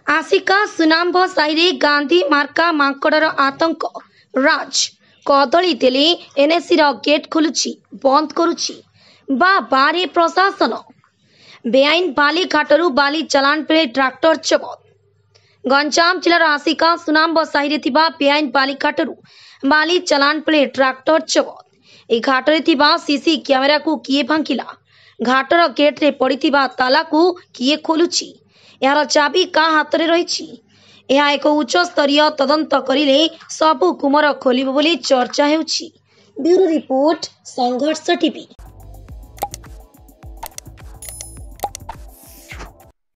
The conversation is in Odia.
ଆସିକା ସୁନାମ୍ବ ସାହିରେ ଗାନ୍ଧୀ ମାର୍କା ମାଙ୍କଡ଼ର ଆତଙ୍କ ରାଜ। କଦଳୀ ଦେଲେ ଏନ୍ଏସିର ଗେଟ୍ ଖୋଲୁଛି, ବନ୍ଦ କରୁଛି। ବା ବାରେ ପ୍ରଶାସନ। ବେଆଇନ ବାଲି ଘାଟରୁ ବାଲି ଚାଲାଣ ବେଳେ ଟ୍ରାକ୍ଟର ଜବତ। ଗଞ୍ଜାମ ଜିଲ୍ଲାର ଆସିକା ସୁନାମ୍ବ ସାହିରେ ଥିବା ବେଆଇନ ବାଲିଘାଟରୁ ବାଲି ଚାଲାଣ ବେଳେ ଟ୍ରାକ୍ଟର ଜବତ। ଏହି ଘାଟରେ ଥିବା ସିସି କ୍ୟାମେରାକୁ କିଏ ଭାଙ୍ଗିଲା? ଘାଟର ଗେଟ୍ରେ ପଡ଼ିଥିବା ତାଲାକୁ କିଏ ଖୋଲୁଛି? ଏହାର ଚାବି କାହା ହାତରେ ରହିଛି? ଏହା ଏକ ଉଚ୍ଚସ୍ତରୀୟ ତଦନ୍ତ କରିଲେ ସବୁ ଗୁମର ଖୋଲିବ ବୋଲି ଚର୍ଚ୍ଚା ହେଉଛି। ବ୍ୟୁରୋ ରିପୋର୍ଟ, ସଂଘର୍ଷ ଟିଭି।